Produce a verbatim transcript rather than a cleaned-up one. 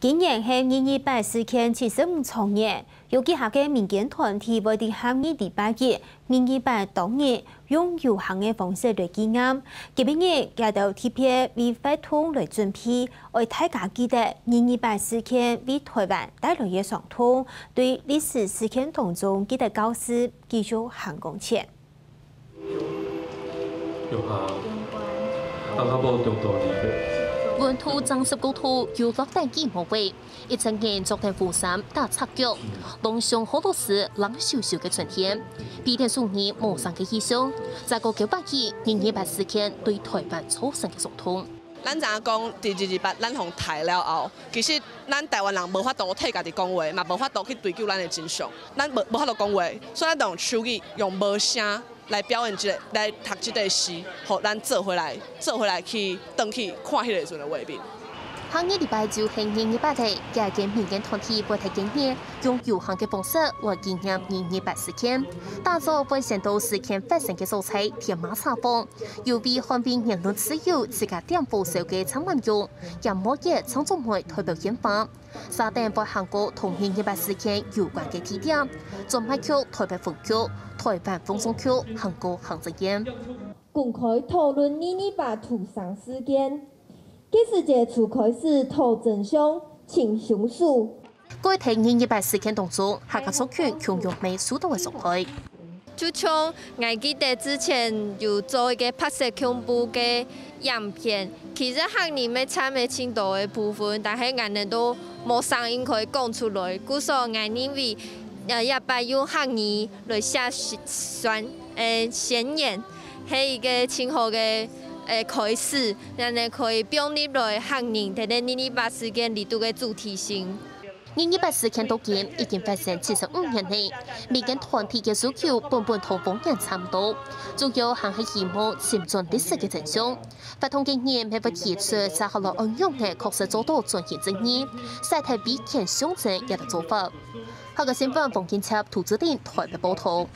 今年係二二八事件七十五週年，有幾下个民間團體會在下二禮拜一、二二八當日，用遊行个方式來紀念。今晡日，佢兜特別為活動來準備，愛大家記得二二八事件為台灣帶來个傷痛，對歷史事件當中記得教示，繼續行光前。 有啊，阿拉伯中到你个。溫度正十九度，又落等幾毛位，一隻人著等雨衫、打赤腳，當上好多時冷咻咻个春天，避天暑熱無聲个異象，再過九百幾，二二八事件對台灣造成个傷痛。咱知影講，佇二二八咱予人刣了後，其實咱台灣人無法度替家己講話，嘛無法度去追究咱的真相，咱無無法度講話，所以咱就用手語，用無聲 來表演這个，來讀這个詩，予咱做伙來，做伙來去轉去看彼个時陣的畫面。下二禮拜就係二二八了，幾个民間團體會在今日用遊行个方式來紀念二二八事件。打早會先到事件發生个所在天馬茶坊，有為捍衛言論自由自家點火燒个茶碗用，也無也唱做會代表煙花。 續等會行過同二二八事件有關个地點，專賣局、台北分局、台灣放送局，還過行政院。公開討論二二八屠城事件，該時節就開始討真相、尋兇手。過去二二八事件當中，客家族群共樣乜受到个傷害。 就像𠊎記得之前有做一個白色恐怖个影片，其實客人乜佔了盡多个部分，但係𠊎等都無聲音可以講出來。故所𠊎認為，呃，這擺用客語來寫宣，呃，宣言，係一個盡好个，呃，開始，恁呢可以放入來客人在這二二八事件裡肚个主題性。 二二八事件到今已經發生七十五年了，民間團體个訴求本本同往年差毋多，主要還係希望尋轉歷史个真相。活動个人乜會提出接下來愛仰仔確實做到轉型正義，徙忒威權象徵這兜做法。客家新聞黃金策、涂志玲台北報導。